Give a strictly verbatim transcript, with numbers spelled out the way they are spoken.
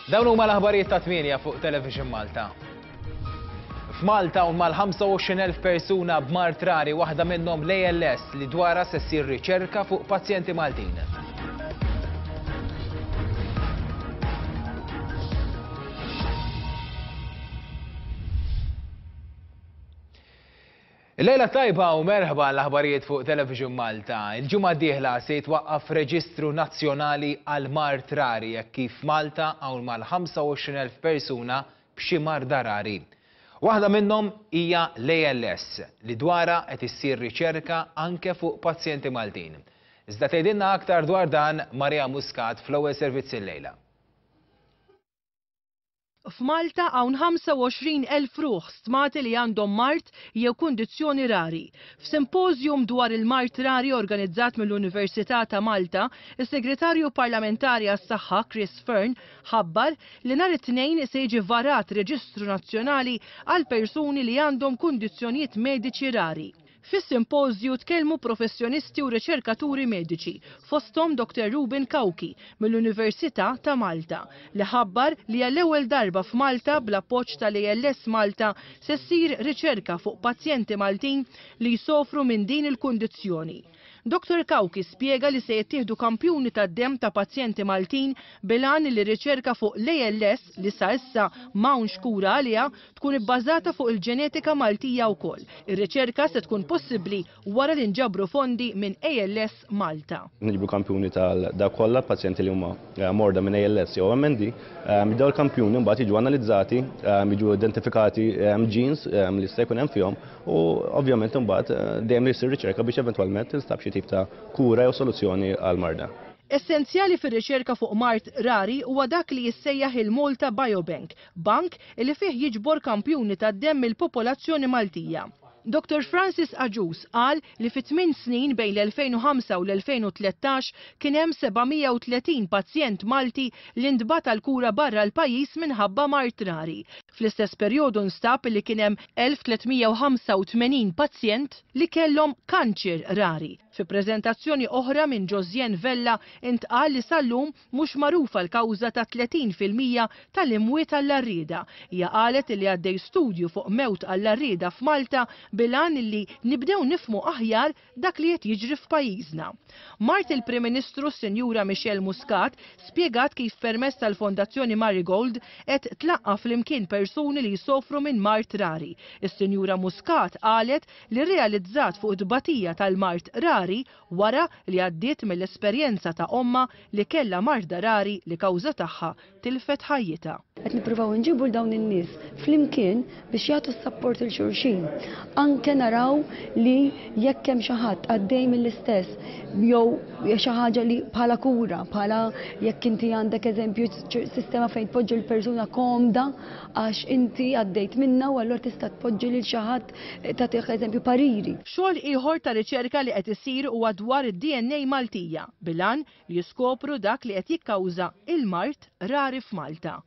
Dawn huma l-aħbarijiet ta' tmienja fuq Television Malta. F'Malta hawn mal-ħamsa u għoxrin elf persuna b'mard rari, waħda minnhom l-A L S li dwarha se ssir riċerka fuq pazjenti Maltin. Lejla tajba u merħba l-aħbarijiet fuq Television Malta. Il-ġimgħa d-dieħla se jitwaqqaf reġistru nazzjonali għal mard rari jekk kif Malta hawn mal-ħamsa u għoxrin elf persuna b'xi marda rari. Waħda minnhom hija l-A L S li dwarha qed issir riċerka anke fuq pazjenti Maltin. Iżda tgħidilna aktar dwar dan Maria Muscat fl-ewwel servizz illejla. F'Malta hawn ħamsa u għoxrin elf ruħ stmati li għandhom mard jew kundizzjoni rari. F'simpożjum dwar il-mard rari organizzat mill-Università ta' Malta, is-Segretarju Parlamentari għas-Saħħa Chris Fearne ħabbar li nhar it-Tnejn se jiġi varat reġistru nazzjonali għal persuni li għandhom kundizzjonijiet mediċi rari. Fis-simpożju tkellmu professjonisti u riċerkaturi mediċi, fosthom Doktor Ruben Cauchi mill-Università ta' Malta, li ħabbar li għall-ewwel darba f'Malta bl-appoġġ tal-A L S Malta se ssir riċerka fuq pazjenti Maltin li jsofru minn din il-kundizzjoni. Doktor Cauchi spjega li se jittieħdu kampjuni tad-demm ta' pazjenti Maltin bil-għan li riċerka fuq l-A L S li sa issa m'hawnx kura għaliha tkun ibbażata fuq il-ġenetika Maltija wkoll. Ir-riċerka se tkun possibbli wara li nġabru fondi minn A L S Malta. Niġbru kampjuni tal-dawk kollha pazjenti li huma, eh, morda minn A L S jew M N D, eh, dawn il-kampjuni mbagħad jiġu analizzati, eh, jiġu identifikati, eh, genes, eh, li jista' jkun hemm fihom u ovvjament imbagħad, eh, dejjem jsir riċerka biex eventwalment tinstab xi tip ta' kura jew soluzzjoni għal-marda. Essenzjali fir-riċerka fuq mard rari huwa dak li jissejjaħ il-Malta Biobank, bank li fih jiġbor kampjuni tad-demm mill-popolazzjoni Maltija. Doktor Francis Agius qal li fi tmien snin bejn l-elfejn u ħamsa u l-elfejn u tlettax kien hemm seba' mija u tletin pazjent Malti li ntbagħat għal kura barra l-pajjiż minħabba mard rari. Fl-istess perjodu nstab li kien hemm elf tliet mija u ħamsa u tmenin pazjent li kellhom kanċer rari. Fi preżentazzjoni oħra minn Josiane Vella intqal li sal-lum mhux magħrufa l-kawża ta' tletin fil-mija tal-imwiet għall-għarrieda. Hija qalet li għaddej studju fuq mewt għall-għarrieda f'Malta bil-għan li nibdew nifhmu aħjar dak li qed jiġri f'pajjiżna. Mart il-Prim Ministru Sinjura Michelle Muscat spjegat kif permezz tal-Fondazzjoni Marigold qed tlaqqa' flimkien persuni li jsofru minn mard rari. Is-Sinjura Muscat qalet li rrealizzat fuq it-tbatija tal-mard rari wara li għaddiet mill-esperjenza ta' omma li kellha marda rari li kawża tagħha tilfet ħajjitha. Qed nippruvaw nġibu l dawn in-nies flimkien biex jagħtu s-sapport il xulxin. Anke naraw li jekk hemm xi ħadd għaddej mill-istess jew xi ħaġa li bħala kura, bħala jekk inti għandek eżempju sistema fejn tpoġġi l-persuna komda għax inti għaddejt minna u allura tista' tpoġġi lil xi ħadd tagħtih eżempju pariri. Xogħol ieħor ta' riċerka li qed isir huwa dwar id-D N A Maltija bil-għan li jiskopru dak li qed jikkawża il-mard rari f'Malta.